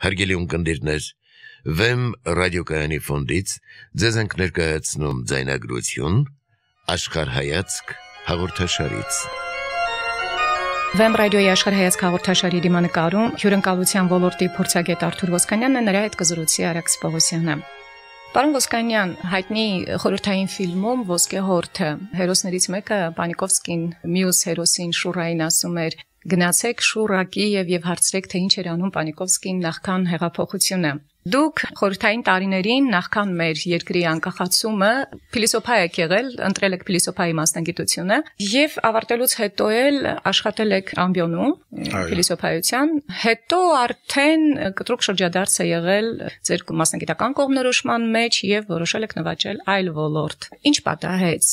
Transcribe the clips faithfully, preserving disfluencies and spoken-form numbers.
Հարգելի ունկնդիրներ, Վեմ ռադիոկայանի ֆոնդից ձեզ ենք ներկայացնում ձայնագրություն Աշխարհայացք հաղորդաշարից։ Վեմ ռադիոյի Աշխարհայացք հաղորդաշարի դիմանկարում հյուրընկալության ոլորտի փորձագետ Արթուր Ոսկանյանն է, նրա հետ կզրուցի Արաքս Պողոսյանը։ Պարոն Ոսկանյան, հայտնի խորհրդային ֆիլմում Ոսկե հորթը հերոսներից մեկը Պանիկովսկին մյուս հերոսին Շուրային ասում էր. Գնացեք Շուրակի եւ եւ հարցրեք, թե ինչ էր անում Պանիկովսկին նախքան հեղափոխությունը։ Դուք խորհրդային տարիներին նախքան մեր երկրի անկախացումը փիլիսոփա եք եղել, ընտրել եք փիլիսոփայի մասնագիտությունը եւ ավարտելուց հետո էլ աշխատել եք ամբիոնում փիլիսոփայության, հետո արդեն կտրուկ շրջադարձ է եղել ձեր մասնագիտական կողմնորոշման մեջ եւ որոշել եք նվաճել այլ ոլորտ։ Ինչ պատահեց։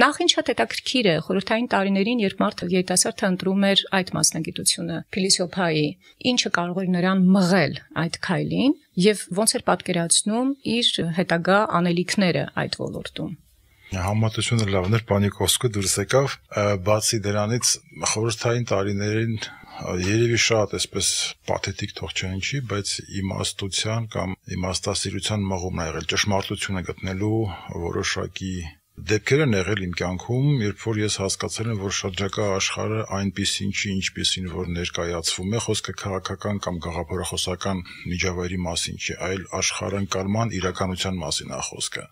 Նախ ինչ հետաքրքիր է խորհրդային տարիներին, երբ մարդը երիտասարդը ընտրում էր այդ մասնագիտությունը փիլիսոփայի, ինչը կարող էր նրան մղել այդ քայլին եւ ոնց էր պատկերացնում իր հետագա անելիքները այդ ոլորտում։ Համատությունը լավն էր, Պանիկովսկը դուրս եկավ, բացի դրանից խորհրդային տարիներին երևի շատ այսպես պաթետիկ թող չընչի, բայց իմաստության կամ իմաստասիրության մղումն ա եղել, ճշմարտությունը գտնելու որոշակի դեպքեր են եղել իմ կյանքում, երբ որ ես հասկացել եմ, որ շրջակա աշխարհը այնպիսին չի, ինչպիսին որ ներկայացվում է, խոսքը քաղաքական կամ գաղափարախոսական միջավայրի մասին չի, այլ աշխարհընկալման իրականության մասին է խոսքը։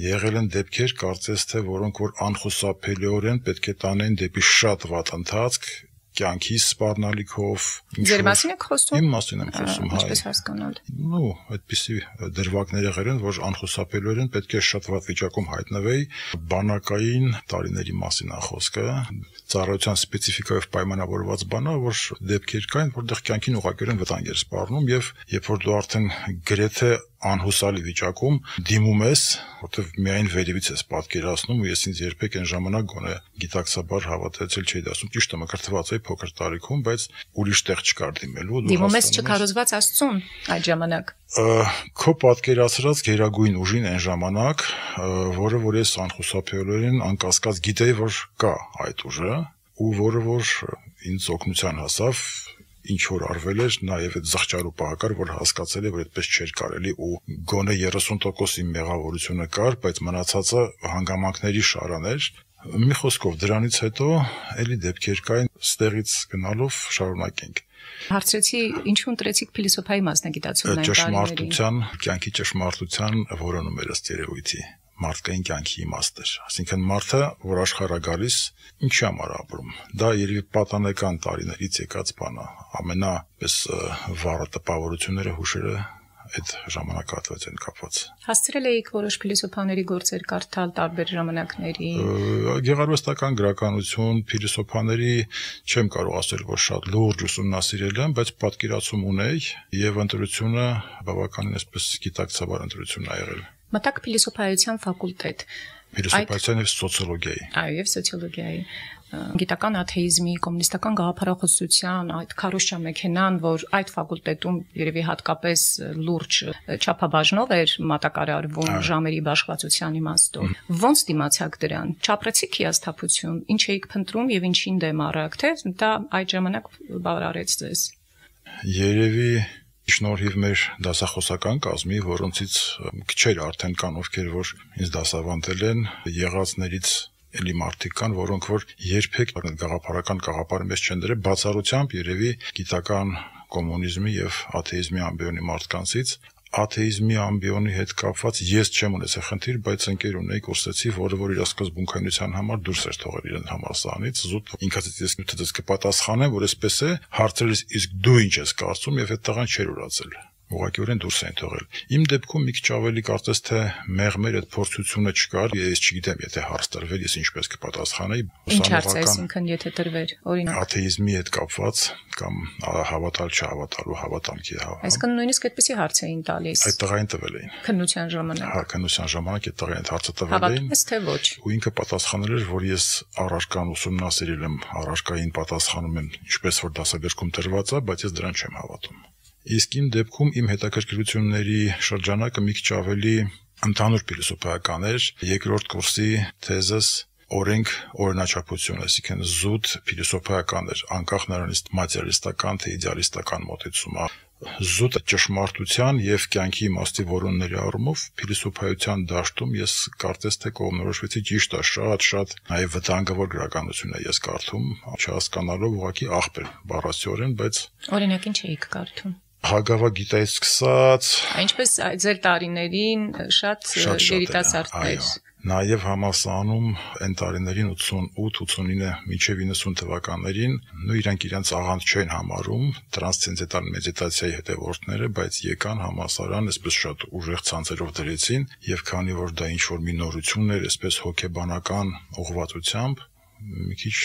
Եղել են դեպքեր, կարծես թե որոնք որ անխուսափելիորեն պետք է տանեն դեպի շատ վատ ընթացք, կյանքի սպառնալիքով։ Ձեր մասին եք խոսում։ Իմ մասին եմ խոսում, հայ։ Ինչպես հասկանալ։ Նու, այդպիսի դրվագներ եղել են, որ անխուսափելիորեն պետք է շատ վատ վիճակում հայտնվեի, բանակային տարիների մասին է խոսքը, ծառայության սպეციფიკայով պայմանավորված բան է, որ դեպքեր կային, որտեղ կյանքին ուղղակիորեն վտանգ էր սպառնում եւ երբ որ դու արդեն գրեթե անհուսալի վիճակում դիմում ես, որտեղ միայն վերևից ես պատկերացնում ու ես ինձ երբեք այն ժամանակ գոնե գիտակցաբար հավատացել չէի դասում, ճիշտ է, մկրտված էի փոքր տարիքում, բայց ուրիշ տեղ չկար դիմելու։ Դիմում ես չքարոզված Աստծուն այդ ժամանակ։ Քո պատկերացրած գերագույն ուժին այն ժամանակ, որը որ ես անխուսափելիորեն անկասկած գիտեի, որ կա այդ ուժը, ու որը որ ինձ օգնության հասավ, ինչ որ արվել էր, նաև այդ զղջարու պահակար, որ հասկացել է, որ այդպես չէր կարելի ու գոնե երեսուն տոկոս իմ մեղավորությունը կար, բայց մնացածը հանգամանքների շարան էր։ Մի խոսքով դրանից հետո էլի դեպքեր կային, ստեղից գնալով շարունակենք։ Հարցրեցի, ինչու ընտրեցիք փիլիսոփայի մասնագիտացումն այն տարիներին։ Ճշմարտության, կյանքի ճշմարտության որոնում էր ըստ երևույթի, մարդկային կյանքի իմաստը։ Այսինքն մարդը, որ աշխարհ է գալիս, ինչի համար ապրում։ Դա երևի պատանեկան տարիներից եկած բան է։ Ամենապես վառը տպավորությունները, հուշերը այդ ժամանակահատվածին կապված։ Հասցրել էիք որոշ փիլիսոփաների գործեր կարդալ տարբեր ժամանակների։ Գեղարվեստական գրականություն, փիլիսոփաների չեմ կարող ասել, որ շատ լուրջ ուսումնասիրել եմ, բայց պատկերացում ունեի եւ ընտրությունը բավականին այսպես գիտակցաբար ընտրություն ա եղել։ Մտակ փիլիսոփայության ֆակուլտետ։ Փիլիսոփայության եւ սոցիոլոգիայի։ Այո, եւ սոցիոլոգիայի։ Գիտական աթեիզմի, կոմունիստական գաղափարախոսության այդ քարոշչա մեքենան, որ այդ ֆակուլտետում երևի հատկապես լուրջ չափաբաժնով էր մատակարարվում ժամերի բաշխվածության իմաստով։ Ոնց դիմացաք դրան։ Չապրեցիք հիասթափություն, ինչ էիք փնտրում եւ ինչին դեմ առաք, թե դա այդ ժամանակ բավարարեց ձեզ։ Երևի շնորհիվ մեր դասախոսական կազմի, որոնցից քչեր արդեն կան, ովքեր որ ինձ դասավանդել են, եղածներից էլի մարդիկ կան, որոնք որ երբեք գաղափարական գաղափարի մեջ չեն դրել, բացառությամբ երևի գիտական կոմունիզմի եւ աթեիզմի ամբիոնի մարդկանցից, աթեիզմի ամբիոնի հետ կապված ես չեմ ունեցել խնդիր, բայց ընկեր ունեի կուրսեցի, որը որ իր սկզբունքայնության համար դուրս էր թողել իրեն համալսարանից, զուտ ինքս ես նյութից կպատասխանեմ, որ այսպես է, հարցրելիս իսկ դու ինչ ես կարծում եւ այդ տղան չէր ուրացել։ Ուղղակիորեն դուրս են թողել։ Իմ դեպքում մի քիչ ավելի կարծես թե մեղմեր այդ փորձությունը չկար, ես չգիտեմ, եթե հարց տրվեր, ես ինչպես կպատասխանեի։ Ինչ հարց է, այսինքն եթե տրվեր, օրինակ աթեիզմի հետ կապված կամ հավատալ չհավատալու հավատամքի հա։ Այսինքն նույնիսկ այդպեսի հարց էին տալիս։ Այդ տղային տվել էին։ Քննության ժամանակ։ Հա, քննության ժամանակ այդ տղային հարցը տվել էին։ Հավատում ես թե ոչ։ Ու ինքը պատասխանել էր, որ ես առարկան ուսումնասիրել եմ, առարկային պատասխանում եմ, ինչպես որ դասագրքում տրված է, բայց ես դրան չեմ հավատում։ Իսկ իմ դեպքում իմ հետաքրքրությունների շրջանակը մի քիչ ավելի ընդհանուր փիլիսոփայական էր, երկրորդ կուրսի թեզս օրենք օրինաչափություն, այսինքն զուտ փիլիսոփայական էր, անկախ նրանից մատերիալիստական թե իդեալիստական մոտեցումը, զուտ ճշմարտության եւ կյանքի իմաստի որոնների առումով փիլիսոփայության դաշտում ես կարծես թե կողմնորոշվեցի ճիշտ է, շատ-շատ նաեւ վտանգավոր գրականություն է ես կարդում, չհասկանալով ուղղակի աղբեր բառացիորեն, բայց օրինակ ինչ էիք կարդում։ Հագավագիտայից սկսած, Ինչպես ձեր տարիներին շատ երիտասարդներ։ Նաև համալսարանում այն տարիներին ութսունութ ութսունինը մինչև իննսուն թվականներին նույն իրանք իրենց աղանդ չեն համարում տրանսցենդենտալ մեդիտացիայի հետևորդները, բայց եկան համալսարան, այսպես շատ ուժեղ ցանցերով դրեցին, եւ քանի որ դա ինչ-որ մի նորություն էր, այսպես հոգեբանական ուղղվածությամբ, մի քիչ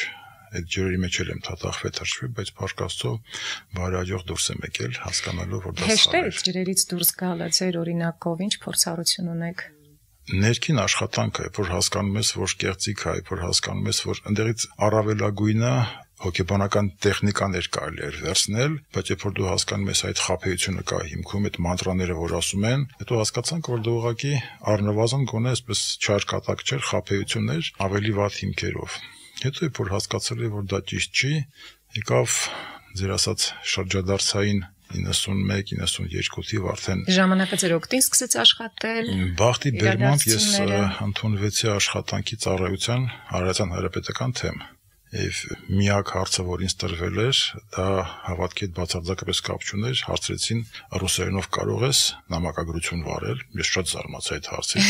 այդ ջրերի մեջ եմ թաթախվել թրջվել, բայց փառք Աստծո բարեհաջող դուրս եմ եկել, հասկանալով որ դա սխալ է։ Հեշտ է ջրերից դուրս գալը ձեր օրինակով, ինչ փորձառություն ունեք։ Ներքին աշխատանքը, որ հասկանում ես, որ կեղծիք է, որ հասկանում ես, որ ընդերից առավելագույնը հոգեբանական տեխնիկաներ կարելի է վերցնել, բայց երբ որ դու հասկանում ես այդ խաբեությունը կա հիմքում, այդ մանտրաները, որ ասում են, հետո հասկացանք, որ դու ուղղակի առնվազն գոնե այսպես չարկատակ չէր, խաբեություններ ավելի վատ հիմքերով։ Հետո երբ որ հասկացել եմ, որ դա ճիշտ չի, եկավ ձեր ասած շրջադարձային իննսունմեկ իննսունյոթ թիվ արդեն ժամանակը ձեր օգտին սկսեց աշխատել։ Բախտի բերմամբ ես ընդունվեցի աշխատանքի ծառայության Հանրապետության Հանրապետական թեմ։ Եվ միակ հարցը, որ ինձ տրվել էր, դա հավատքի հետ բացարձակապես կապ չուներ, հարցրեցին ռուսերենով կարող ես նամակագրություն վարել, ես շատ զարմացա այդ հարցից։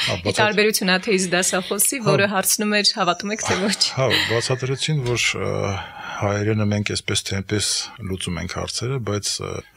Ի տարբերություն աթեիստ դասախոսի, որը հարցնում էր հավատում եք թե ոչ։ Հա, բացատրեցին, որ հայերենը մենք այսպես թե այնպես լուծում ենք հարցերը, բայց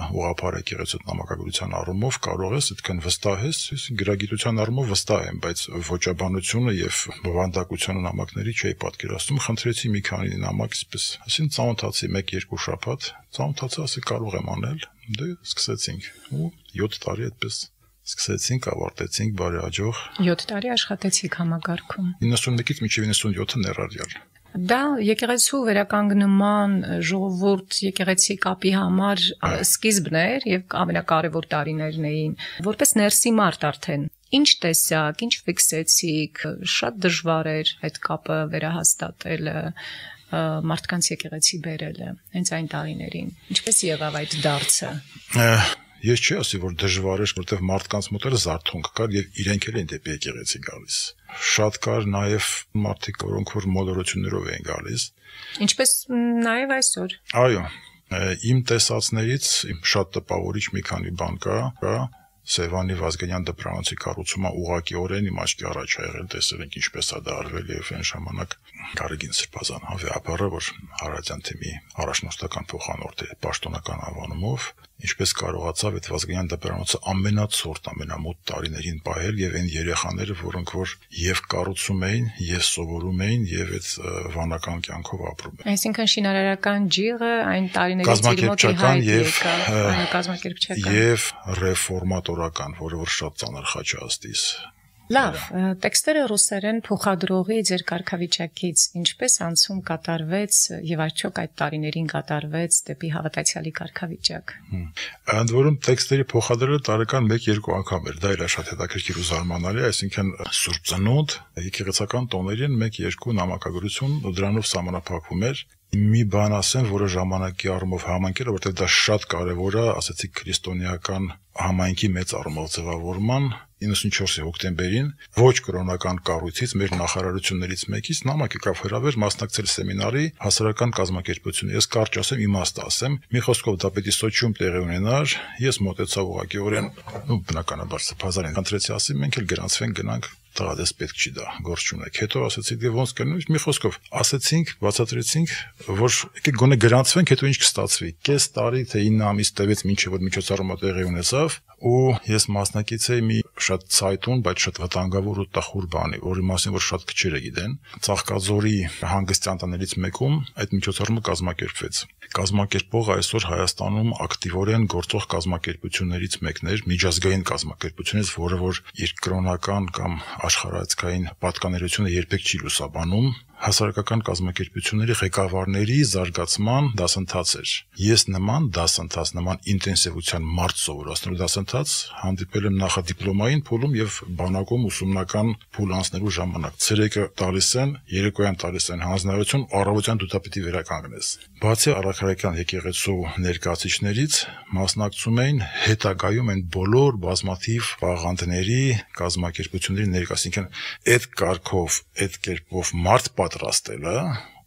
ուղղափառ եկեղեցու նամակագրության առումով կարող ես այդքան վստահ ես, ես գրագիտության առումով վստահ եմ, բայց ոճաբանությունը եւ բովանդակությունը նամակների չէի պատկերացնում, խնդրեցի մի քանի նամակ այսպես, ասին ծանոթացի մեկ-երկու շաբաթ, ծանոթացա, ասի կարող եմ անել, դե սկսեցինք ու յոթ տարի այդպես սկսեցինք, ավարտեցինք բարեհաջող։ յոթ տարի աշխատեցիք համագարքում։ իննսունմեկից մինչև իննսունյոթը ներառյալ։ Դա եկեղեցու վերականգնման ժողովուրդ եկեղեցի կապի համար սկիզբն էր եւ ամենակարևոր տարիներն էին, որպես ներսի մարդ արդեն։ Ինչ տեսակ, ինչ ֆիքսեցիք, շատ դժվար էր այդ կապը վերահաստատելը, մարդկանց եկեղեցի բերելը, հենց այն տարիներին։ Ինչպես եղավ այդ դարձը։ Ես չի ասի, որ դժվար էր, որտեղ մարդկանց մոտ էլ զարթոնք կար եւ իրենք էլ են դեպի եկեղեցի գալիս։ Շատ կար նաեւ մարդիկ, որոնք որ մոլորություններով էին գալիս։ Ինչպես նաեւ այսօր։ Այո, իմ տեսածներից իմ շատ տպավորիչ մի քանի բան կա, կա Սևանի Վազգենյան դպրանոցի կառուցումը ուղղակիորեն իմ աչքի առաջ ա եղել, տեսել ենք ինչպես է դա արվել եւ այն ժամանակ Գարեգին Սրբազան հավեապարը, որ Հարազյան թիմի առաջնորդական փոխանորդ է պաշտոնական անվանումով, ինչպես կարողացավ այդ Վազգենյան դպրանոցը ամենացորդ, ամենամոտ տարիներին պահել եւ այն երեխաները, որոնք որ եւ կառուցում էին, եւ սովորում էին, եւ այդ վանական կյանքով ապրում էին։ Այսինքն շինարարական ջիղը այն տարիներից իր մոտ հայտ եկավ, կազմակերպչական եւ ռեֆորմատորական, որը որ շատ ծանր խաչ է աստիս։ Լավ, տեքստերը ռուսերեն փոխադրողի ձեր կարգավիճակից ինչպես անցում կատարվեց եւ արդյոք այդ տարիներին կատարվեց դեպի հավատացյալի կարգավիճակ։ Ընդ որում տեքստերի փոխադրելը տարեկան մեկ-երկու անգամ էր, դա էլ շատ հետաքրքիր ու զարմանալի, այսինքն Սուրբ Ծնունդ, եկեղեցական տոներին մեկ-երկու նամակագրություն ու դրանով սահմանափակվում էր։ Մի բան ասեմ, որը ժամանակի առումով համանքել է, որտեղ դա շատ կարևոր է, ասացիք քրիստոնեական համայնքի մեծ առումով ձևավորման իննսունչորսի հոկտեմբերին ոչ կրոնական կառույցից մեր նախարարություններից մեկից նամակ եկավ հրավեր մասնակցել սեմինարի հասարակական կազմակերպություն։ Ես կարճ ասեմ, իմաստ ասեմ, մի խոսքով դա պետք է Սոչիում տեղի ունենար, ես մոտեցա ուղղակիորեն, ու բնականաբար սփազարեն ընտրեցի, ասի մենք էլ գրանցվենք գնանք տղադես պետք չի դա, գործ չունեք։ Հետո ասացի, դե ոնց կլինի, մի խոսքով ասացինք, բացատրեցինք, որ եկեք գոնե գրանցվենք, հետո ինչ կստացվի։ Կես տարի թե ինը ամիս տևեց մինչև որ միջոցառումը տեղի ունեցավ, ու ես մասնակից էի մի շատ ցայտուն, բայց շատ վտանգավոր ու տխուր բանի, որի մասին որ շատ քչերը գիտեն։ Ծաղկաձորի հանգստյան տներից մեկում այդ միջոցառումը կազմակերպվեց։ Կազմակերպողը այսօր Հայաստանում ակտիվորեն գործող կազմակերպություններից մեկն էր, միջազգային կազմակերպությունից, որը որ իր կրոնական կամ աշխարհայացքային պատկանելիությունը երբեք չի լուսաբանում, հասարակական կազմակերպությունների ղեկավարների զարգացման դասընթաց էր։ Ես նման դասընթաց, նման ինտենսիվության մարդ սովորացնելու դասընթաց հանդիպել եմ նախադիպլոմային փուլում եւ բանակում ուսումնական փուլ անցնելու ժամանակ։ Ցերեկը տալիս են, երեկոյան տալիս են հանձնարարություն, առավոտյան դու դա պիտի վերականգնես։ Բացի առաքելական եկեղեցու ներկայացիչներից մասնակցում էին հետագայում այն բոլոր բազմաթիվ աղանդների, կազմակերպությունների ներկայացին, այդ կարգով, այդ կերպով մարդ պատրաստելը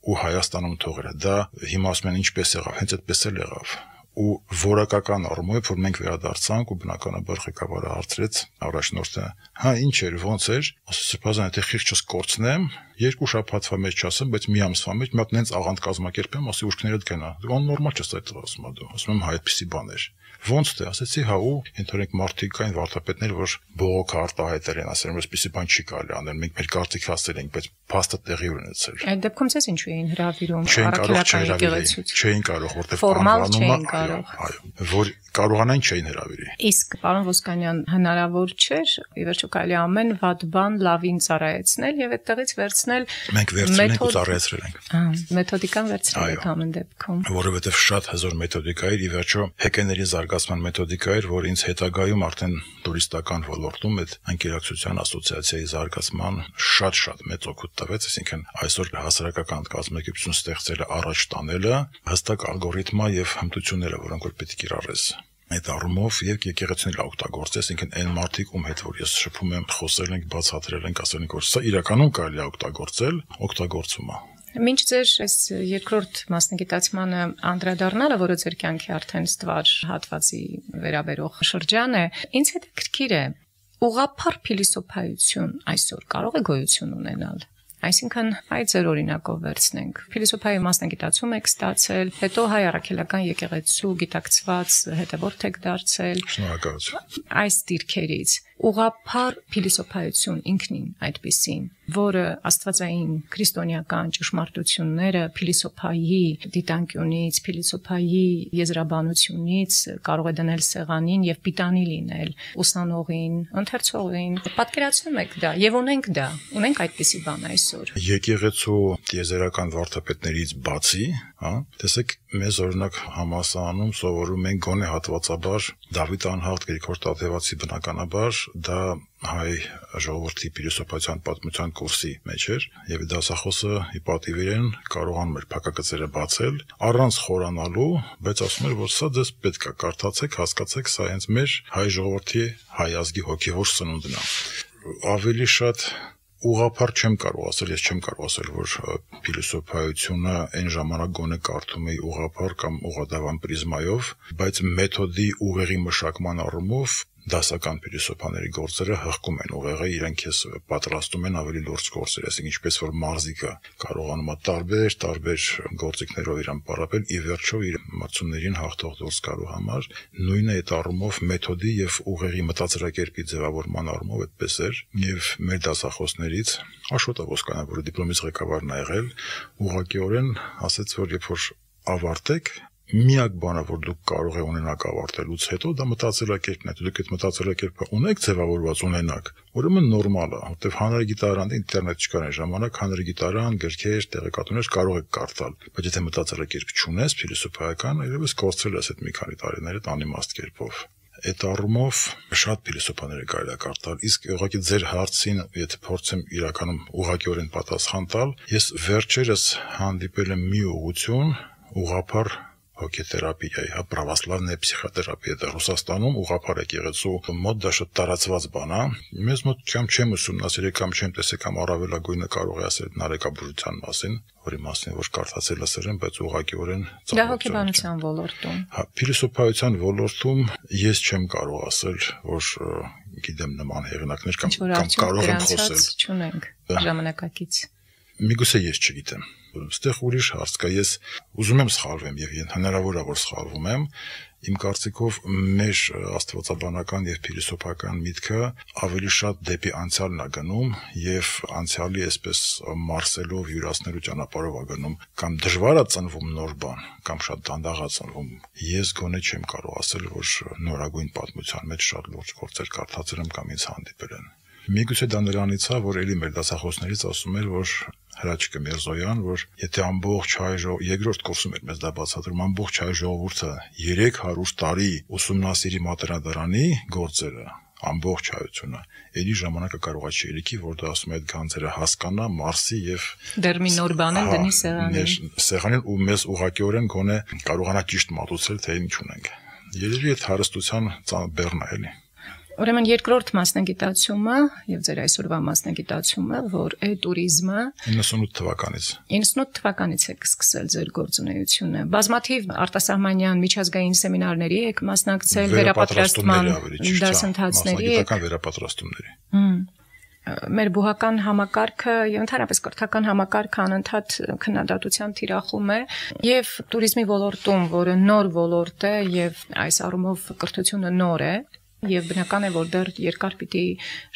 ու Հայաստանում թողելը, դա հիմա ասում են ինչպես եղավ, հենց այդպես էլ եղավ։ Ու որակական առումով, որ մենք վերադարձանք ու բնականաբար ղեկավարը հարցրեց առաջնորդը, հա ինչ էր, ոնց էր, ասես սրբազան, եթե խիղճս կորցնեմ, երկու շաբաթվա մեջ չասեմ, բայց մի ամսվա մեջ մի հատ նենց աղանդ կազմակերպեմ, ասի ուշքներդ գնա։ Դու նորմալ չես այդ ասում դու։ Ասում եմ, հա, այդպեսի բան էր։ Ոնց թե, ասեցի, հա, ու ընդհանրենք մարդիկ կային վարդապետներ, որ բողոք արտահայտել են, ասել են, այսպեսի բան չի կարելի անել, մենք մեր կարծիքը ասել ենք, բայց փաստը տեղի ունեցել։ Այդ դեպքում ցես ինչու էին հրավիրում առաքելական եկեղեցուց։ Չէին կարող, որտեղ անվանումը, այո, որ կարողանային չէին հրավիրի։ Իսկ պարոն Ոսկանյան, հնարավոր չէր, ի վերջո կարելի ամեն վատ բան լավին ծառայեցնել եւ այդտեղից վերցնել մենք վերցրել ենք ու ծառայեցրել ենք։ Ահա, մեթոդիկան վերցրել եք ամեն դեպքում։ Որովհետեւ շատ հզոր մեթոդիկա էր, ի վերջո հեքեների զարգացման մեթոդիկա էր, որ ինձ հետագայում արդեն տուրիստական ոլորտում այդ անկերակցության ասոցիացիայի զարգացման շատ-շատ մեծ օգուտ տվեց, այսինքն այսօր հասարակական կազմակերպություն ստեղծելը, առաջ տանելը հստակ ալգորիթմա եւ հմտությունները, որոնք որ պետք է կիրառես։ Այդ առումով եւ եկեղեցին օգտագործես, ինքն այն մարդիկ, ում հետ որ ես շփում եմ, խոսել ենք, բացատրել ենք, ասել ենք, որ սա իրականում կարելի է օգտագործել, օգտագործում է։ Մինչ ձեր այս երկրորդ մասնագիտացմանը անդրադառնալը, որը ձեր կյանքի արդեն ստվար հատվածի վերաբերող շրջան է, ինձ հետաքրքիր է, ուղղափառ փիլիսոփայություն այսօր կարող է գոյություն ունենալ։ Այսինքն, այդ ձեր օրինակով վերցնենք։ Փիլիսոփայի մասնագիտացում եք ստացել, հետո հայ առաքելական եկեղեցու գիտակցված հետևորդ եք դարձել։ Շնորհակալություն։ Այս դիրքերից ուղղափառ փիլիսոփայություն ինքնին այդպիսին, որը աստվածային քրիստոնեական ճշմարտությունները փիլիսոփայի դիտանկյունից, փիլիսոփայի եզրաբանությունից կարող է դնել սեղանին եւ պիտանի լինել ուսանողին, ընթերցողին։ Պատկերացնում եք դա եւ ունենք դա, ունենք այդպիսի բան այսօր։ Եկեղեցու տիեզերական վարդապետներից բացի, հա, տեսեք, մեզ օրինակ համալսարանում սովորում են գոնե հատվածաբար Դավիթ անհաղթ Գրիգոր Տաթևացի բնականաբար դա հայ ժողովրդի փիլիսոփայության պատմության կուրսի մեջ էր եւ դասախոսը ի պատիվ իրեն կարողանում էր փակագծերը բացել առանց խորանալու, բայց ասում էր, որ սա դες պետք է կարդացեք, հասկացեք, սա հենց մեր հայ ժողովրդի հայ ազգի հոգեվոր սնունդն է։ Ավելի շատ ուղղափառ չեմ կարող ասել, ես չեմ կարող ասել, որ փիլիսոփայությունը այն ժամանակ գոնե կարդում էի ուղղափառ կամ ուղղադավան պրիզմայով, բայց մեթոդի ուղեղի մշակման առումով դասական փիլիսոփաների գործերը հղկում են ուղեղը, իրենք ես պատրաստում են ավելի լուրջ գործեր, այսինքն ինչպես որ մարզիկը կարողանում է տարբեր տարբեր գործիքներով իրան պարապել, ի վերջո իր մրցումներին հաղթող դուրս գալու համար, նույնը այդ առումով մեթոդի եւ ուղեղի մտածելակերպի ձևավորման առումով այդպես էր, եւ մեր դասախոսներից Աշոտ Ոսկանյանը, որը դիպլոմից ղեկավարն է եղել, ուղղակիորեն ասաց, որ երբ որ ավարտեք միակ բանը, որ դուք կարող եք ունենալ ավարտելուց հետո, դա մտածելակերպն է։ Դուք այդ մտածելակերպը ունեք ձևավորված ունենաք, ուրեմն նորմալ է, որտեղ հանրագիտարան, ինտերնետ չկար այն ժամանակ, հանրագիտարան, գրքեր, տեղեկատվներ կարող եք կարդալ, բայց եթե մտածելակերպ չունես, փիլիսոփայական, այլևս կորցրել ես այդ մի քանի տարիներ այդ անիմաստ կերպով։ Այդ առումով շատ փիլիսոփաներ է կարելի կարդալ, իսկ ուղղակի ձեր հարցին, եթե փորձեմ իրականում ուղղակիորեն պատասխան տալ, ես վերջերս հանդիպել եմ մի ուղղություն, ուղղափառ հոգեթերապիայի, հա, պրավասլավնե փսիխոթերապիա, դա Ռուսաստանում ուղղափառ եկեղեցու մոտ դա շատ տարածված բան է։ Մեզ մոտ կամ չեմ ուսումնասիրել, կամ չեմ տեսել, կամ առավելագույնը կարող է ասել նարեկաբուժության մասին, որի մասին որ կարդացել լսել եմ, բայց ուղղակիորեն դա հոգեբանության ոլորտում։ Հա, փիլիսոփայության ոլորտում ես չեմ կարող ասել, որ գիտեմ նման հեղինակներ կամ կամ կարող եմ խոսել։ Չունենք ժամանակակից։ Միգուցե ես չգիտեմ։ Այստեղ ուրիշ հարց կա, ես ուզում եմ սխալվեմ եւ հնարավոր է որ սխալվում եմ, իմ կարծիքով մեր աստվածաբանական եւ փիլիսոփական միտքը ավելի շատ դեպի անցյալն է գնում եւ անցյալի այսպես մարսելով յուրացնելու ճանապարհով է գնում, կամ դժվար է ծնվում նոր բան, կամ շատ դանդաղ է ծնվում։ Ես գոնե չեմ կարող ասել, որ նորագույն պատմության մեջ շատ լուրջ գործեր կարդացել եմ կամ ինձ հանդիպել են։ Միգուցե դա նրանից է, որ ելի մեր դասախոսներից ասում էր, որ Հրաչկը Միրզոյան, որ եթե ամբողջ հայ ժողովուրդը երկրորդ կուրսում էր մեզ դա բացատրում, ամբողջ հայ ժողովուրդը երեք հարյուր տարի ուսումնասիրի մատենադարանի գործերը, ամբողջ հայությունը, ելի ժամանակը կարողա չի ելիքի, որ դա ասում է այդ գանձերը հասկանա, մարսի եւ դեռ մի նոր բան են դնի սեղանին։ Սեղանին ու մեզ ուղղակիորեն գոնե կարողանա ճիշտ մատուցել, թե ինչ ունենք։ Երևի այդ հարստության բեռն է էլի։ Ուրեմն երկրորդ մասնագիտացումը եւ ձեր այսօրվա մասնագիտացումը, որ է տուրիզմը իննսունութ թվականից իննսունութ թվականից եք սկսել ձեր գործունեությունը։ Բազմաթիվ արտասահմանյան միջազգային սեմինարների եք մասնակցել, վերապատրաստման դասընթացների եք, մասնագիտական վերապատրաստումների։ Մեր բուհական համակարգը եւ ընդհանրապես կրթական համակարգը անընդհատ քննադատության թիրախում է եւ տուրիզմի ոլորտում, որը նոր ոլորտ է եւ այս առումով կրթությունը նոր է եւ բնական է որ դեռ երկար պիտի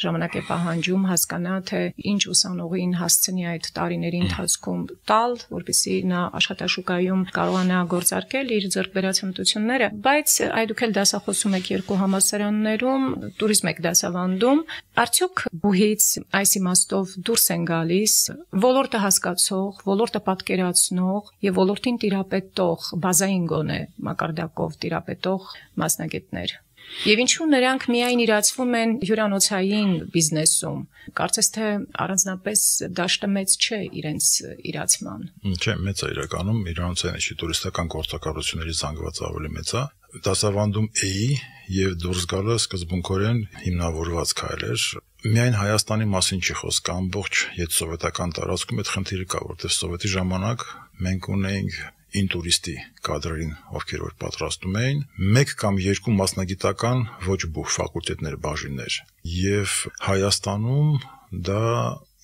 ժամանակ է պահանջում հասկանա թե ինչ ուսանողին հասցնի այդ տարիների ընթացքում տալ, որպեսզի նա աշխատաշուկայում կարողանա գործարկել իր ձեռքբերած հմտությունները, բայց այ դուք էլ դասախոսում եք երկու համալսարաններում, տուրիզմ եք դասավանդում, արդյոք բուհից այս իմաստով դուրս են գալիս ոլորտը հասկացող, ոլորտը պատկերացնող եւ ոլորտին տիրապետող, բազային գոնե մակարդակով տիրապետող մասնագետներ։ Եվ ինչու նրանք միայն իրացվում են հյուրանոցային բիզնեսում, կարծես թե առանձնապես դաշտը մեծ չէ իրենց իրացման։ Չէ, մեծ է իրականում, հյուրանոցային չի տուրիստական գործակալությունների զանգված ավելի մեծ է։ Դասավանդում էի եւ դուրս գալը սկզբունքորեն հիմնավորված քայլ էր։ Միայն Հայաստանի մասին չի խոսքը, ամբողջ հետսովետական տարածքում այդ խնդիրը կա, որտեղ սովետի ժամանակ մենք ունեինք ինտուրիստի կադրերին, ովքեր որ պատրաստում էին, մեկ կամ երկու մասնագիտական ոչ բուհ ֆակուլտետներ, բաժիններ, եւ Հայաստանում դա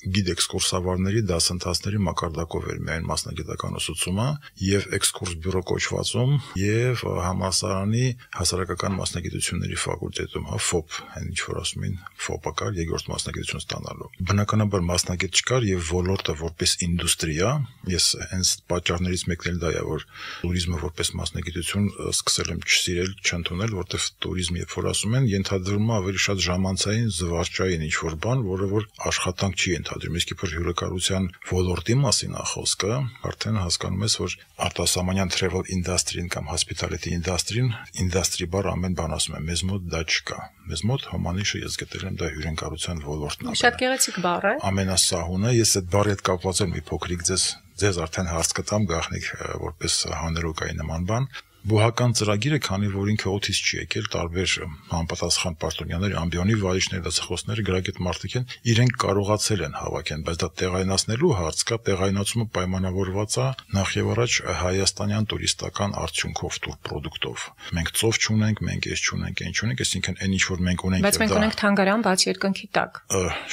գիդէքսկուրսավարների դասընթացների մակարդակով էր միայն մասնագիտական ուսուցումը եւ էքսկուրս բյուրո կոչվածում եւ համալսարանի հասարակական մասնագիտությունների ֆակուլտետում, հա ֆոփ, այն ինչ որ ասում են, ֆոփը կար երկրորդ մասնագիտություն ստանալու։ Բնականաբար մասնագետ չկար եւ ոլորտը որպես ինդուստրիա, ես հենց պատճառներից մեկն էլ դա է, որ տուրիզմը որպես մասնագիտություն սկսել եմ չսիրել, չընդունել, որտեղ տուրիզմ երբ որ ասում են, ենթադրվում է ավելի շատ ժամանցային, զվարճային ինչ որ բան, որը որ աշխատանք չի ենթադրում, իսկ իբր հյուրակարության ոլորտի մասին է խոսքը, արդեն հասկանում ես, որ արտասահմանյան travel industry-ն կամ hospitality industry-ն, industry բառ ամեն բան ասում է, մեզ մոտ դա չկա։ Մեզ մոտ հոմանիշը ես գտել եմ դա հյուրընկալության ոլորտն է։ Շատ գեղեցիկ բառ է։ Ամենասահունը, ես այդ բառի հետ կապված եմ մի փոքրիկ ձեզ ձեզ արդեն հարց կտամ գաղտնիք որպես հանրօգայի նման բան։ Բուհական ծրագիրը, քանի որ ինքը օթից չի եկել, տարբեր համապատասխան պարտոնյաներ, ամբիոնի վարիչներ, դասախոսներ, գրագետ մարդիկ են, իրենք կարողացել են հավաքեն, բայց դա տեղայնացնելու հարց կա, տեղայնացումը պայմանավորված է նախ եւ առաջ հայաստանյան տուրիստական արդյունքով, տուր պրոդուկտով։ Մենք ծով չունենք, մենք էս չունենք, այն չունենք, այսինքն այն ինչ որ մենք ունենք, բայց մենք ունենք թանգարան բաց երկնքի տակ։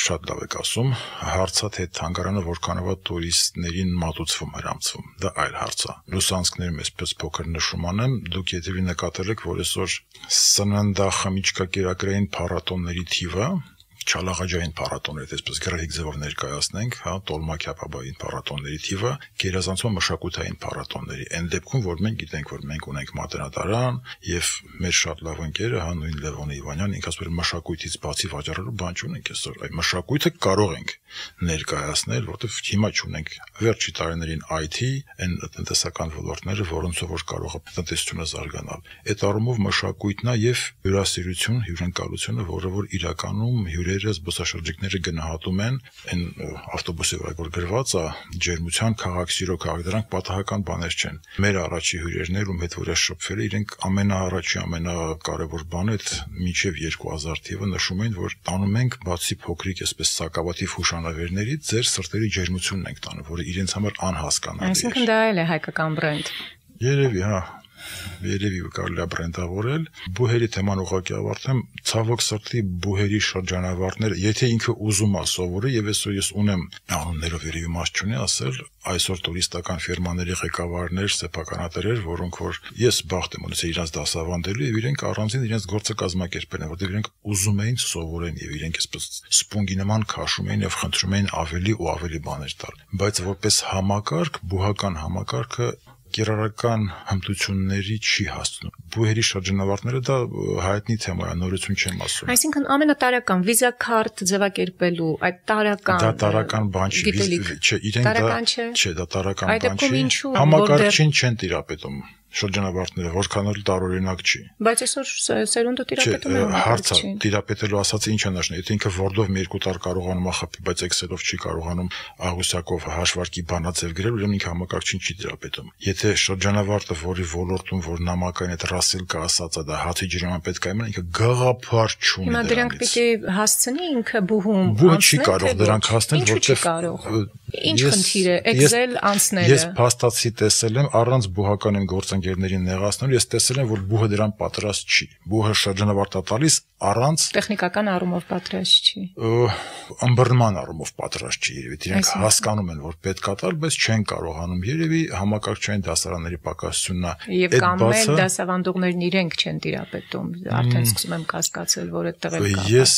Շատ լավ եք ասում, հարցը թե թանգարանը որքանով է տուրիստներին մատուցվում, հրամցվում, դա այլ հարց է։ Լուսանցքներում էսպես փոքր նշում դուք եթե նկատել եք, որ այսօր սննդախմիչքակերակրային փառատոնների թիվը Չալաղաջային փառատոններ, այսպես գրեհիկ ձևով ներկայացնենք, հա, տոլմա-քյաբաբային փառատոնների թիվը գերազանցում մշակութային փառատոնների։ Այն դեպքում, որ մենք գիտենք, որ մենք ունենք մատենադարան եւ մեր շատ լավ ընկերը, հա, նույն Լևոն Իվանյան, ինքը ասում է մշակույթից բացի վաճառելու բան չունենք այսօր։ Այդ մշակույթը կարող ենք ներկայացնել, որովհետեւ հիմա չունենք վերջի տարիներին I T, այն տնտեսական ոլորտները, որոնցով որ կարող է տնտեսությունը զարգանալ։ Այդ առումով մշակույթն է եւ հյուրասիրություն, հյուրընկալությունը, որը որ իրականում հյուրերը զբոսաշրջիկները գնահատում են, այն ավտոբուսի վրա որ գրված է ջերմության քաղաք սիրո քաղաք, դրանք պատահական բաներ չեն։ Մեր առաջի հյուրերներ ում հետ որ է շփվել, իրենք ամենաառաջի ամենակարևոր բանը այդ մինչև երկու հազար թիվը նշում են, որ տանում ենք բացի փոքրիկ այսպես սակավաթիվ հուշանվերներից ձեր սրտերի ջերմությունն ենք տանում, որը իրենց համար անհասկանալի է։ Այսինքն դա էլ է հայկական բրենդ։ Երևի, հա, երևի կարելի է բրենդավորել։ Բուհերի թեման ուղղակի ավարտեմ, ցավոք սրտի բուհերի շրջանավարտները, եթե ինքը ուզում է սովորի, եւ այսօր ես ունեմ անուններով երևի մաս չունի ասել, այսօր տուրիստական ֆիրմաների ղեկավարներ, սեփականատերեր, որոնք որ ես բախտ եմ ունեցել իրենց դասավանդելու եւ իրենք առանձին իրենց գործը կազմակերպել են, որտեղ իրենք ուզում էին սովորեն եւ իրենք այսպես սպունգի նման քաշում էին եւ խնդրում էին ավելի ու ավելի բաներ տալ։ Բայց որպես համակարգ, բուհական համակարգը կիրառական հմտությունների չի հասնում։ Բուհերի շրջանավարտները դա հայտնի թեմա է, նորություն չեմ ասում։ Այսինքն ամենատարական վիզա քարտ ձևակերպելու այդ տարական դա տարական բան չի, չէ, իրենք դա չէ, դա տարական բան չի։ Համակարգչին չեն տիրապետում շրջանավարտները, որքան էլ տարօրինակ չի։ Բայց այսօր սերունդը տիրապետում է հարցը տիրապետելու ասածը ինչ է նշանակում, եթե ինքը Word-ով մի երկու տար կարողանում է խփի, բայց Excel-ով չի կարողանում աղյուսակով հաշվարկի բանաձև գրել, ուրեմն ինքը համակարգչին չի տիրապետում։ Եթե շրջանավարտը, որի ոլորտում որ նամակային այդ Ռասելկա ասածը դա հացի ջրման պետք է իմանա, ինքը գաղափար չունի։ Հիմա դրանք պիտի հասցնի ինքը բուհում։ Բուհը չի կարող դրանք հասնել, որտեղ ինչ խնդիր է Excel անցնելը։ Ես փաստացի տեսել եմ առանց բուհական են գործընկերներին նեղացնելու, ես տեսել եմ, որ բուհը դրան պատրաստ չի։ Բուհը շրջանավարտ է տալիս առանց տեխնիկական առումով պատրաստ չի։ Ըմբռնման առումով պատրաստ չի երևի։ Իրենք հասկանում են, որ պետք է տալ, բայց չեն կարողանում։ Երևի համակարգչային դասարանների պակասությունն է։ Եվ կամ էլ դասավանդողներն իրենք չեն տիրապետում։ Արդեն սկսում եմ կասկածել, որ այդտեղ էլ կա։ Ես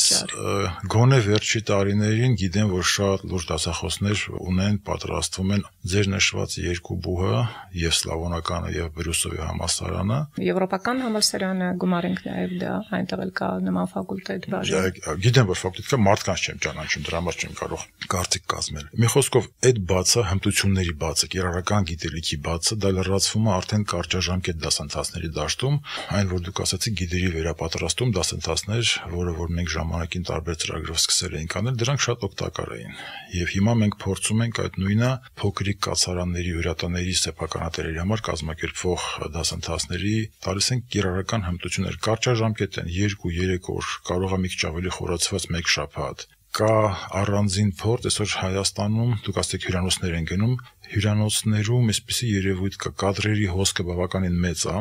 գոնե վերջի տարիներին գիտեմ, որ շատ լուրջ դասախոսներ ունեն, պատրաստվում են ձեր նշված երկու բուհը, եւ սլավոնականը եւ Բրյուսովի համալսարանը։ Եվրոպական համալսարանը գումարենք նաեւ դա, այնտեղ էլ կա նման ֆակուլտետ բաժին։ Գիտեմ, որ ֆակուլտետ կա, մարդկանց չեմ ճանաչում, դրա համար չեմ կարող կարծիք կազմել։ Մի խոսքով, այդ բացը, հմտությունների բացը, կիրառական գիտելիքի բացը, դա լրացվում է արդեն կարճաժամկետ դասընթացների դաշտում, այն որ դուք ասացիք գիդերի վերապատրաստում դասընթացներ, որը որ մենք ժամանակին տարբեր ծրագրով սկսել էինք անել, դրանք շատ օգտակար էին։ Եվ հիմա մենք փորձում ենք այդ նույնը փոքրիկ կացարանների, հյուրատաների, սեփականատերերի համար կազմակերպվող դասընթացների տալիս են կիրառական հմտություններ, կարճաժամկետ են, երկու երեք օր, կարող է մի քիչ ավելի խորացված մեկ շաբաթ։ Կա առանձին փորձ, այսօր Հայաստանում դուք ասեք հյուրանոցներ են գնում, հյուրանոցներում այսպիսի երևույթ կա, կադրերի հոսքը բավականին մեծ է,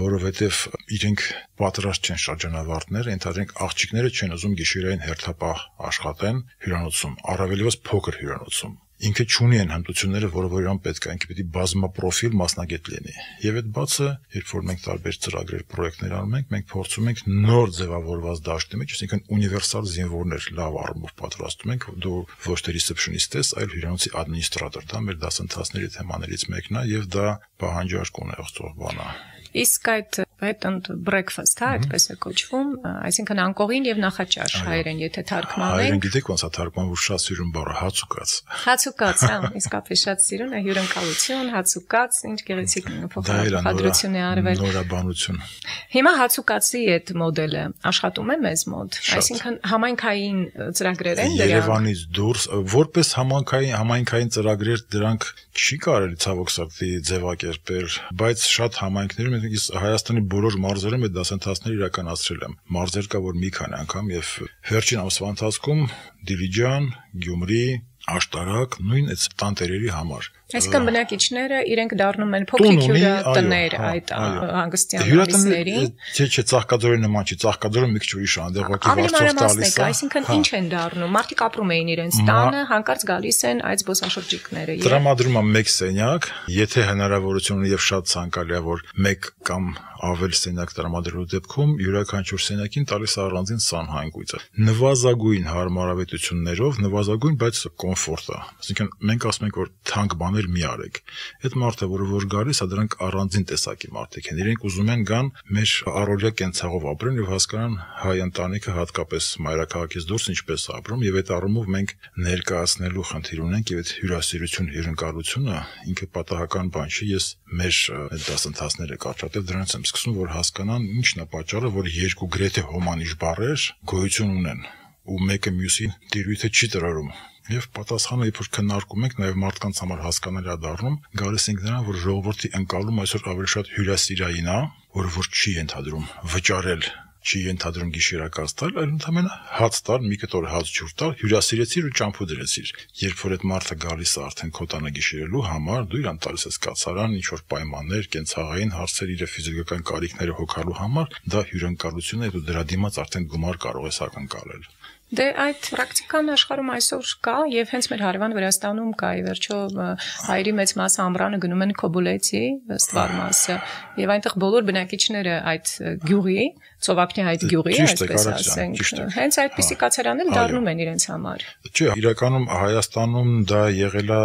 որովհետև իրենք պատրաստ չեն շրջանավարտներ, ընդհանրենք աղջիկները չեն ուզում գիշերային հերթապահ աշխատեն հյուրանոցում, առավելևս փոքր հյուրանոցում։ Ինքը չունի են հմտությունները, որը որ իրան պետք է, ինքը պիտի բազմապրոֆիլ մասնագետ լինի։ Եվ այդ բացը, երբ որ մենք տարբեր ծրագրեր, պրոյեկտներ անում ենք, մենք փորձում ենք նոր ձևավորված դաշտի մեջ, այսինքն ունիվերսալ զինվորներ լավ առումով պատրաստում ենք, դու ոչ թե ռիսեպշնիստ ես, այլ հյուրանոցի ադմինիստրատոր, դա մեր դասընթացների թեմաներից մեկն է եւ դա պահանջարկ ունեցող բան է։ Իսկ այդ bed and breakfast, հա, այդպես է կոչվում, այսինքն անկողին եւ նախաճաշ հայերեն, եթե թարգմանենք։ Հայերեն գիտեք ոնց է թարգմանվում, շատ սիրուն բառը հացուկաց։ Հացուկաց, հա, իսկապես շատ սիրուն է, հյուրընկալություն, հացուկաց, ինչ գեղեցիկ փոխադրություն է արվել։ Նորաբանություն։ Հիմա հացուկացի այդ մոդելը աշխատում է մեզ մոտ, այսինքն համայնքային ծրագրեր են դրանք։ Երևանից դուրս, որպես համայնքային համայնքային ծրագրեր դրանք չի կարելի ցավոք սրտի ձևակերպել, բայց շատ համայնքներում ես Հայաստանի բոլոր մարզերում այդ դասընթացները իրականացրել եմ։ Մարզեր կա, որ մի քանի անգամ եւ վերջին ամսվա ընթացքում Դիլիջան, Գյումրի, Աշտարակ, նույն այդ տանտերերի համար։ Այսինքն բնակիչները իրենք դառնում են փոքրիկ հյուրատներ այդ հանգստյան ամիսներին։ Չէ, չէ, Ծաղկաձորի նման չի, Ծաղկաձորը մի քիչ ուրիշ է, այնտեղ ոգի վարձով տալիս է։ Այսինքն ինչ են դառնում։ Մարդիկ ապրում էին իրենց տանը, հանկարծ գալիս են այդ զբոսաշրջիկները։ Տրամադրում է մեկ սենյակ, եթե հնարավորություն ունի եւ շատ ցանկալի է, որ մեկ կամ ավել սենյակ տրամադրելու դեպքում յուրաքանչյուր սենյակին տալիս է առանձին սանհանգույցը։ Նվազագույն հարմարավետություններով, նվազագույն, բայց կոմֆորտ է։ Այսինքն մենք ասում ենք, որ թանկ բաներ մի արեք։ Այդ մարդը, որը որ գալիս է, դրանք առանձին տեսակի մարդիկ են։ Իրենք ուզում են գան մեր առօրյա կենցաղով ապրեն եւ հասկանան հայ ընտանիքը հատկապես մայրաքաղաքից դուրս ինչպես ապրում եւ այդ առումով մենք ներկայացնելու խնդիր ունենք եւ այդ հյուրասիրություն, հյուրընկալությունը ինքը պատահական բան չի։ Ես մեր այդ դասընթացները կարճատև դրանից եմ սկսում, որ հասկանան ինչն է պատճառը, որ երկու գրեթե հոմանիշ բառեր գոյություն ունեն ու մեկը մյուսին տիրույթը չի տրորում։ Եվ պատասխանը երբ որ քննարկում ենք, նաև մարդկանց համար հասկանալի է դառնում, գալիս ենք նրան, որ ժողովրդի ընկալում այսօր ավելի շատ հյուրասիրային է, որը որ չի ենթադրում վճարել, չի ենթադրում գիշերակաց տալ, այլ ընդհանրապես հաց տալ, մի կտոր հաց ջուր տալ, հյուրասիրեցիր ու ճամփու դրեցիր։ Երբ որ այդ մարդը գալիս է արդեն քո տանը գիշերելու համար, դու իրան տալիս ես կացարան, ինչ որ պայմաններ, կենցաղային հարցեր, իր ֆիզիկական կարիքները հոգալու համար, դա հյուրընկալություն է, դու դրա դիմաց արդեն գումար կարող ես ակնկալել։ Դե այդ պրակտիկան աշխարհում այսօր կա եւ հենց մեր հարևան Վրաստանում կա, ի վերջո հայերի մեծ մասը ամռանը գնում են Քոբուլեցի, ստվար մասը, եւ այնտեղ բոլոր բնակիչները այդ գյուղի, ծովափնի այդ գյուղի, այսպես ասենք, հենց այդպիսի կացարաններ դառնում են իրենց համար։ Չէ, իրականում Հայաստանում դա եղել է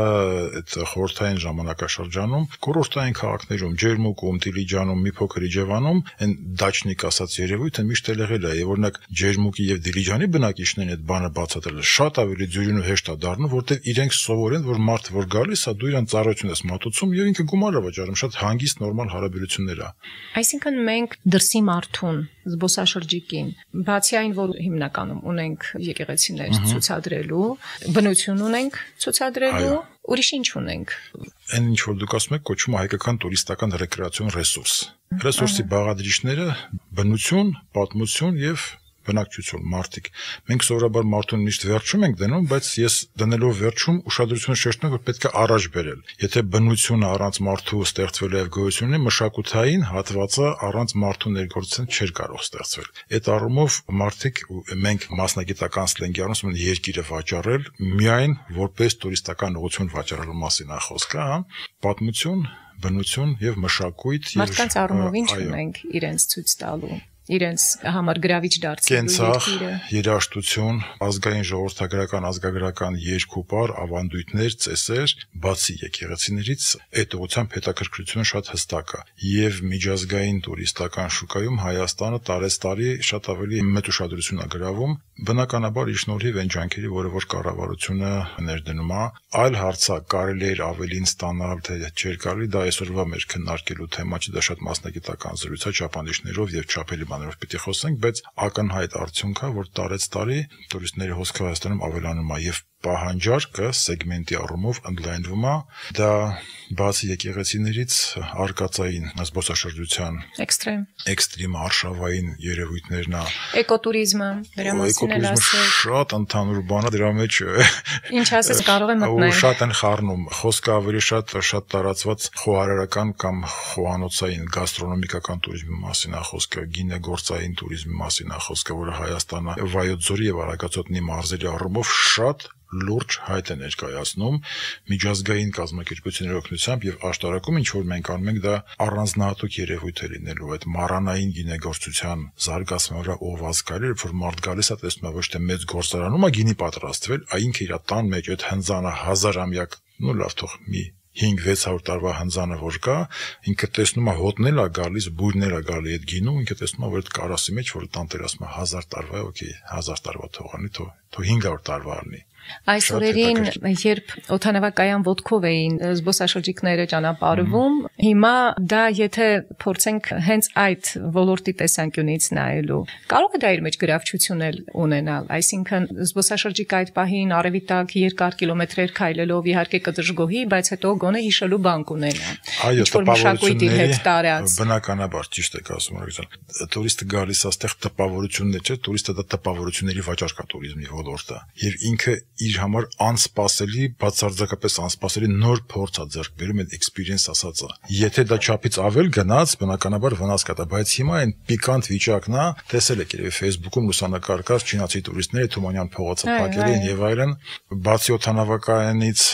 այդ խորհրդային ժամանակաշրջանում, կուրորտային քաղաքներում, Ջերմուկում, Դիլիջանում, մի փոքր Իջևանում, այն դաչնիկ ասած երևույթը միշտ եղել է, եւ օրինակ Ջերմուկի եւ Դիլիջանի բնակիչներն այդ բանը բացատրել շատ ավելի ձյուրին ու հեշտ է դառնում, որտեղ իրենք սովորեն, որ մարդը որ գալիս է, դու իրան ծառայություն ես մատուցում եւ ինքը գումար է վճարում, շատ հանգիստ նորմալ հարաբերություններ է։ Այսինքն մենք դրսի մարդուն, զբոսաշրջիկին, բացի այն, որ հիմնականում ունենք եկեղեցիներ ցուցադրելու, բնություն ունենք ցուցադրելու, ուրիշ ինչ ունենք։ Այն ինչ որ դուք ասում եք, կոչվում է հայկական տուրիստական ռեկրեացիոն ռեսուրս։ Ռեսուրսի բաղադրիչները բնություն, պատմություն եւ բնակչություն, մարդիկ։ Մենք սովորաբար մարդուն միշտ վերջում ենք դնում, բայց ես դնելով վերջում ուշադրությունը շեշտում եմ, որ պետք է առաջ բերել։ Եթե բնությունը առանց մարդու ստեղծվել եւ գոյություն ունի, մշակութային հատվածը առանց մարդու ներգործության չէր կարող ստեղծվել։ Այդ առումով մարդիկ մենք մասնագիտական սլենգի առնում են երկիրը վաճառել, միայն որպես տուրիստական ուղղություն վաճառելու մասին է խոսքը, հա։ Պատմություն, բնություն եւ մշակույթ եւ մարդկանց առումով ինչ ունենք իրենց ցույց տալու իրենց համար գրավիչ դարձնելու երկիրը, երաժշտություն, ազգային ժողովրդագրական, ազգագրական երկուպար, ավանդույթներ, ծեսեր, բացի եկեղեցիներից, այդ ուղղությամբ հետաքրքրությունը շատ հստակ է։ Եվ միջազգային տուրիստական շուկայում Հայաստանը տարեստարի շատ ավելի մեծ ուշադրություն է գրավում, բնականաբար իր շնորհիվ այն ջանքերի, որը որ կառավարությունը ներդնում է, այլ հարց է, կարելի է ավելին ստանալ, թե չէր կարելի, դա այսօրվա մեր քննարկելու թեմա չի, դա շատ մասնագիտական զրույց է, չափանիշներով եւ չափերի բաներով պիտի խոսենք, բայց ակնհայտ արդյունք է, որ տարեց տարի տուրիստների հոսքը Հայաստանում ավելանում է եւ պահանջարկը սեգմենտի առումով ընդլայնվում է, դա բացի եկեղեցիներից արկածային զբոսաշրջության էքստրեմ էքստրեմ արշավային երևույթներն է, էկոտուրիզմը, դրա մասին էլ ասել, շատ ընդհանուր բան է, դրա մեջ ինչ ասես կարող եմ մտնել, շատ են խառնում, խոսքը ավելի շատ շատ տարածված խոհարարական կամ խոհանոցային գաստրոնոմիկական տուրիզմի մասին է խոսքը, գինեգործային տուրիզմի մասին է խոսքը, որը Հայաստանը Վայոց ձորի եւ Արագածոտնի մարզերի առումով շատ լուրջ հայտ է ներկայացնում միջազգային կազմակերպությունների օգնությամբ եւ աշտարակում ինչ որ մենք անում ենք դա առանձնահատուկ երևույթ է լինելու այդ մառանային գինեգործության զարգացման վրա ուղղված կարելի որ մարդ գալիս է տեսնում է ոչ թե մեծ գործարանում է գինի պատրաստվել, այ ինքը իր տան մեջ այդ հնձանը հազարամյակ, նու լավ թող մի հինգ-վեց հարյուր տարվա հնձանը որ կա, ինքը տեսնում է հոտնել է գալիս, բույրներ է գալի այդ գինու, ինքը տեսնում է որ այդ կարասի մեջ որ տանտերասում է հազար տարվա, օքեյ, հազար տարվա թողանի, թող թող հինգ հարյուր տարվա լինի։ Այս օրերին, երբ օդանավակայան ոտքով էին զբոսաշրջիկները ճանապարհվում, հիմա դա եթե փորձենք հենց այդ ոլորտի տեսանկյունից նայելու, կարող է դա իր մեջ գրավչություն ունենալ, այսինքն զբոսաշրջիկը այդ պահին արևի տակ երկար կիլոմետրեր քայլելով իհարկե կդժգոհի, բայց հետո գոնե հիշելու բան կունենա։ Ինչ-որ մշակույթի հետ տարած։ Բնականաբար ճիշտ եք ասում, օրինակ, տուրիստը գալիս այստեղ տպավորություններ չէ, տուրիստը դա տպավորությունների վաճառք է տուրիզմի ոլորտը, եւ ինքը իր համար անսպասելի, բացարձակապես անսպասելի նոր փորձ է ձեռք բերում այդ experience ասածը։ Եթե դա չափից ավել գնաց, բնականաբար վնաս կտա, բայց հիմա այն պիկանտ վիճակն է, տեսել եք երևի Facebook-ում լուսանկարված չինացի տուրիստները Թումանյան փողոցը փակել են եւ այլն, բացի օդանավակայանից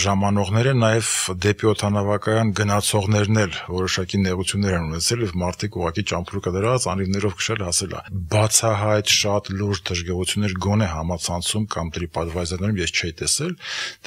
ժամանողները նաեւ դեպի օդանավակայան գնացողներն էլ որոշակի նեղություններ են ունեցել եւ մարդիկ ուղղակի ճամփրուկը դրած անիվներով քշել հասել է։ Բացահայտ շատ լուրջ դժգոհություններ գոնե համացանցում կամ TripAdvisor-ում ես չէի տեսել,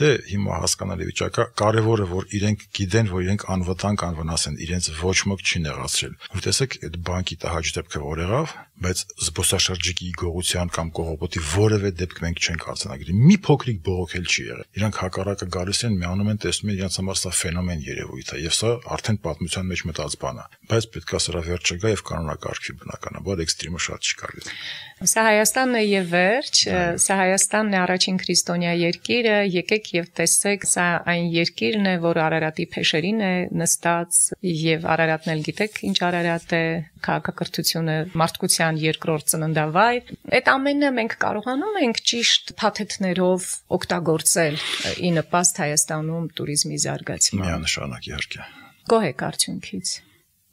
դե հիմա հասկանալի վիճակա, կարևորը որ իրենք գիտեն, որ իրենք անվտանգ անվնաս են, իրենց ոչ ոք չի նեղացրել։ Որ տեսեք, այդ բանկի տհաճ դեպքը որ եղավ, բայց զբոսաշրջիկի գողության կամ կողոպոտի որևէ դեպք մենք չենք արձանագրի։ Մի փոքրիկ բողոքել չի եղել։ Իրանք հակառակը գալիս են, միանում են, տեսնում են, իրենց համար սա ֆենոմեն երևույթ է, եւ սա արդեն պատմության մեջ մտած բան է։ Բայց պետք է սրա վերջը գա եւ կանոնակարգվի բնականաբար էքստրեմը շատ չի կարելի։ Սա Հայաստանն է եւ վերջ, սա Հայաստանն է առաջին քրիստոնյա երկիրը, եկեք եւ տեսեք, սա այն երկիրն է, որ Արարատի փեշերին է նստած եւ Արարատն էլ գիտեք, ինչ Արարատ է, քաղաքակրթությունը մարդկության երկրորդ ծննդավայր։ Այդ ամենը մենք կարողանում ենք ճիշտ փաթեթներով օգտագործել ի նպաստ Հայաստանում տուրիզմի զարգացման։ Միանշանակ իհարկե։ Գոհ եք արդյունքից։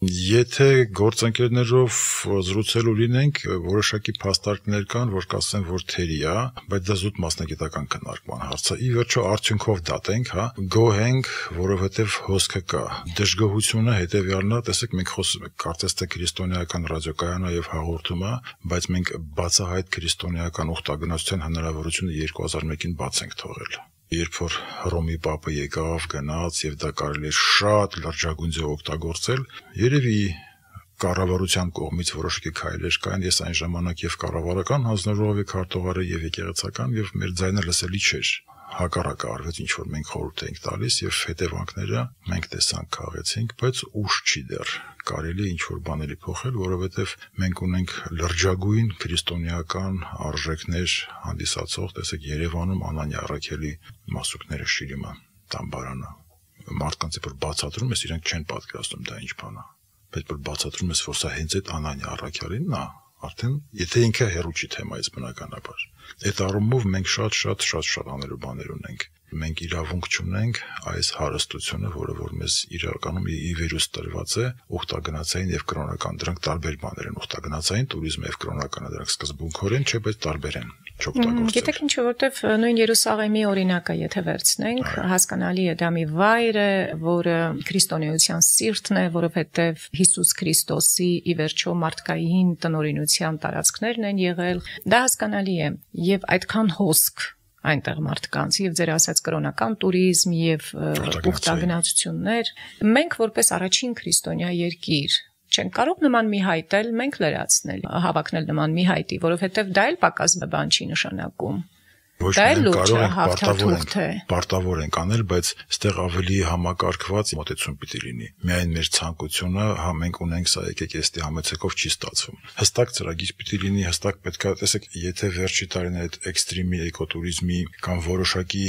Եթե գործընկերներով զրուցելու լինենք, որոշակի փաստարկներ կան, որ կասեն, որ թերի է, բայց դա զուտ մասնագիտական քննարկման հարց է։ Ի վերջո արդյունքով դատենք, հա, գոհենք, որովհետև հոսքը կա։ Դժգոհությունը հետևյալն է, տեսեք, մենք խոսում ենք, կարծես թե քրիստոնեական ռադիոկայանա եւ հաղորդում է, բայց մենք բացահայտ քրիստոնեական ուխտագնացության հնարավորությունը երկու հազար մեկին բաց ենք թողել։ Երբ որ Հռոմի Պապը եկավ, գնաց եւ դա կարելի է շատ լրջագույն ձեւ օգտագործել, երևի կառավարության կողմից որոշակի քայլեր կային, ես այն ժամանակ եւ կառավարական հանձնաժողովի քարտուղարը եւ եկեղեցական եւ մեր ձայնը լսելի չէր։ Հակառակը արվեց, ինչ որ մենք խորհուրդ էինք տալիս եւ հետևանքները մենք տեսանք, քաղեցինք, բայց ուշ չի դեռ։ Կարելի է ինչ որ բաների փոխել, որովհետեւ մենք ունենք լրջագույն քրիստոնեական արժեքներ հանդիսացող, տեսեք, Երևանում Անանյա Առաքելի մասուկները Շիրիմը, Տամբարանը, մարդկանց որ բացատրում ես, իրենք չեն պատկերացնում դա ինչ բան է, բայց որ բացատրում ես, որ սա հենց այդ Անանյա Առաքելինն է, արդեն եթե ինքը հերու չի թեմայից բնականաբար։ Այդ առումով մենք շատ-շատ շատ-շատ անելու բաներ ունենք։ Մենք իրավունք չունենք այս հարստությունը, որը որ մեզ իրականում ի վերուս տրված է, ուխտագնացային եւ կրոնական, դրանք տարբեր բաներ են, ուխտագնացային տուրիզմը եւ կրոնականը, դրանք սկզբունքորեն չէ, բայց տարբեր են։ Գիտեք ինչ, որովհետև նույն Երուսաղեմի օրինակը եթե վերցնենք, հասկանալի է դա մի վայր է, որը քրիստոնեության սիրտն է, որովհետև Հիսուս Քրիստոսի ի վերջո մարդկային տնօրինության տարածքներն են եղել, դա հասկանալի է, եւ այդքան հոսք այնտեղ մարդկանց եւ ձեր ասած կրոնական տուրիզմ եւ ուխտագնացություններ, մենք որպես առաջին քրիստոնյա երկիր չենք կարող նման մի հայտել, մենք լրացնել, հավակնել նման մի հայտի, որովհետև դա էլ պակաս բան չի նշանակում։ Ոչ մենք կարող ենք պարտավոր ենք, պարտավոր ենք անել, բայց ստեղ ավելի համակարգված մոտեցում պիտի լինի։ Միայն մեր ցանկությունը, հա մենք ունենք սա եկեք էստի համեցեկով չի ստացվում։ Հստակ ծրագիր պիտի լինի, հստակ պետք է, տեսեք, եթե վերջի տարիներ այդ էքստրեմի էկոտուրիզմի կամ որոշակի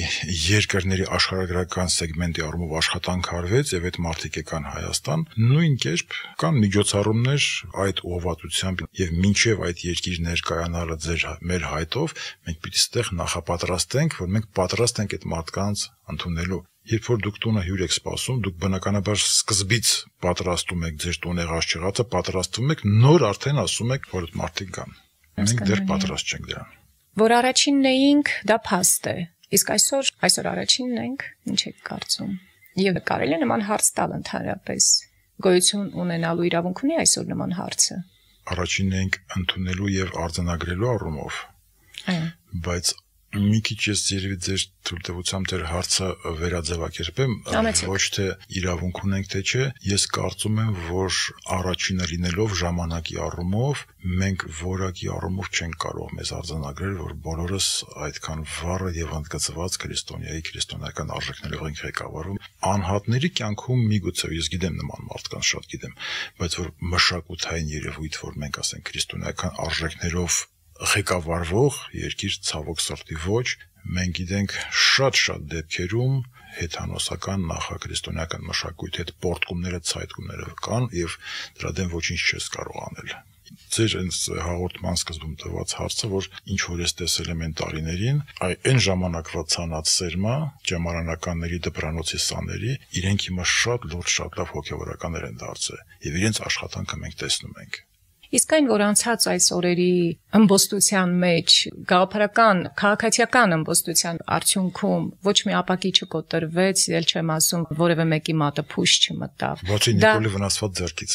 երկրների աշխարհագրական սեգմենտի առումով աշխատանք արվեց եւ այդ մարդիկ եկան Հայաստան, նույն կերպ կան միջոցառումներ այդ ուղղվածությամբ եւ մինչեւ այդ երկիր ներկայանալը ձեր մեր հայտով մենք պիտի ստեղ նախապատրաստենք, որ մենք պատրաստ ենք այդ մարդկանց ընդունելու։ Երբ որ դուք տունը հյուր եք սպասում, դուք բնականաբար սկզբից պատրաստում եք ձեր տուն եղած չեղածը, պատրաստվում եք, նոր արդեն ասում եք, որ այդ մարդիկ կան։ Մենք դեռ պատրաստ չենք դրան։ Որ առաջինն էինք, դա փաստ է։ Իսկ այսօր, այսօր առաջինն ենք, ինչ եք կարծում։ Եվ կարելի է նման հարց տալ ընդհանրապես։ Գոյություն ունենալու իրավունք ունի այսօր նման հարցը։ Առաջինն ենք ընդունելու եւ արձանագրելու առումով։ Այո։ Բայց մի քիչ ես երևի ձեր թույլտվությամբ ձեր հարցը վերաձևակերպեմ, ոչ թե իրավունք ունենք թե չէ, ես կարծում եմ, որ առաջինը լինելով ժամանակի առումով մենք որակի առումով չենք կարող մեզ արձանագրել, որ բոլորս այդքան վառը եւ ընդգծված քրիստոնեայի քրիստոնեական արժեքներով ենք ղեկավարվում։ Անհատների կյանքում միգուցե ես գիտեմ նման մարդկանց շատ գիտեմ, բայց որ մշակութային երևույթ, որ մենք ասենք քրիստոնեական արժեքներով ղեկավարվող երկիր ցավոք սրտի ոչ, մենք գիտենք շատ-շատ դեպքերում հեթանոսական նախաքրիստոնեական մշակույթի հետ պորտկումները, ցայտկումները կան եւ դրա դեմ ոչինչ չես կարող անել։ Ձեր այս հաղորդման սկզբում տված հարցը, որ ինչ որ ես տեսել եմ այն տարիներին, այն ժամանակվա ցանած սերմա, ճեմարանականների դպրանոցի սաների, իրենք հիմա շատ լուրջ, շատ լավ հոգեվորականներ են դարձել եւ իրենց աշխատանքը մենք տեսնում ենք։ Իսկ այն, որ անցած այս օրերի ըմբոստության մեջ, գաղափարական, քաղաքացիական ըմբոստության արդյունքում ոչ մի ապակի չկոտրվեց, ել չեմ ասում, որևէ մեկի մատը փուշ չմտավ։ Բացի Նիկոլի վնասված ձեռքից։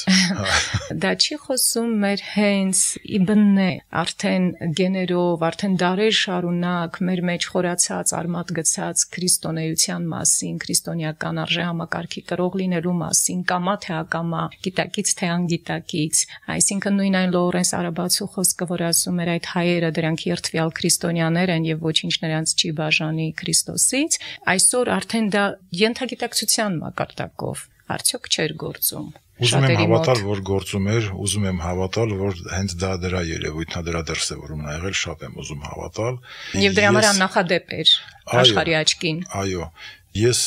Դա չի խոսում մեր հենց իբնե, արդեն գեներով, արդեն դարեր շարունակ մեր մեջ խորացած, արմատ գցած քրիստոնեության մասին, քրիստոնեական արժեհամակարգի կրող լինելու մասին, կամա թե ակամա, գիտակից թե անգիտակից, այսինքն նույն այն Լորենս Արաբացու խոսքը, որ ասում էր այդ հայերը դրանք երթվյալ քրիստոնյաներ են եւ ոչինչ նրանց չի բաժանի Քրիստոսից, այսօր արդեն դա ենթագիտակցության մակարդակով արդյոք չէր գործում։ Ուզում եմ հավատալ, որ գործում էր, ուզում եմ հավատալ, որ հենց դա դրա երևույթն է, դրա դրսևորումն է եղել, շատ եմ ուզում հավատալ։ Եվ դրա համար աննախադեպ էր աշխարհի աչքին։ Այո, ես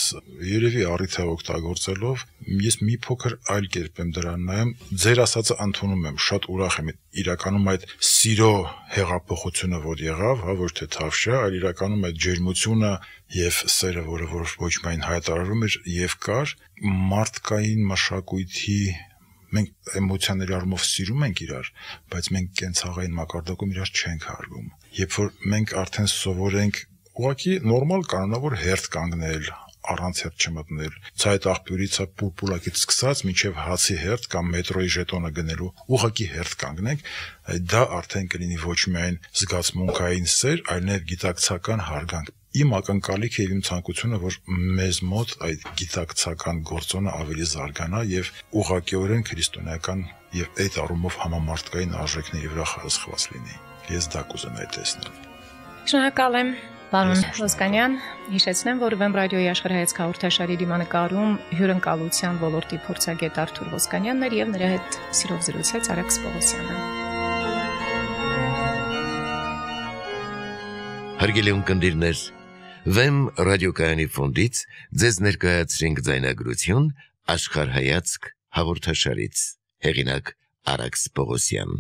երևի առիթ է օգտագործելով, ես մի փոքր այլ կերպ եմ դրան նայում, ձեր ասածը ընդունում եմ, շատ ուրախ եմ, իրականում այդ սիրո հեղափոխությունը, որ եղավ, հա, ոչ թե թավշյա, այլ իրականում այդ ջերմությունը եւ սերը, որը որ ոչ միայն հայտարարում էր եւ կար, մարդկային մշակույթի մենք էմոցիաների առումով սիրում ենք իրար, բայց մենք կենցաղային մակարդակում իրար չենք հարգում։ Երբ որ մենք արդեն սովորենք ուղղակի նորմալ կանոնավոր հերթ կանգնել, առանց հետ չմտնել, ցայտ աղբյուրից պուլպուլակից սկսած մինչև հացի հերթ կամ մետրոյի ժետոնը գնելու ուղղակի հերթ կանգնենք, դա արդեն կլինի ոչ միայն զգացմունքային սեր, այլև գիտակցական հարգանք։ Իմ ակնկալիքը եւ իմ ցանկությունը, որ մեզ մոտ այդ գիտակցական գործոնը ավելի զարգանա եւ ուղղակիորեն քրիստոնեական եւ այդ առումով համամարտկային արժեքների վրա խրախուսված լինի։ Ես դա կուզենայի տեսնել։ Շնորհակալ եմ, պարոն Ոսկանյան։ Հիշեցնեմ, որ Վեմ ռադիոյի աշխարհայացք հաղորդաշարի դիմանկարում հյուրընկալության ոլորտի փորձագետ Արթուր Ոսկանյանն էր եւ նրա հետ սիրով զրուցեց Արաքս Պողոսյանը։ Հարգելի ունկնդիրներ, Վեմ ռադիոկայանի ֆոնդից ձեզ ներկայացրինք ձայնագրություն աշխարհայացք հաղորդաշարից։ Հեղինակ Արաքս Պողոսյան։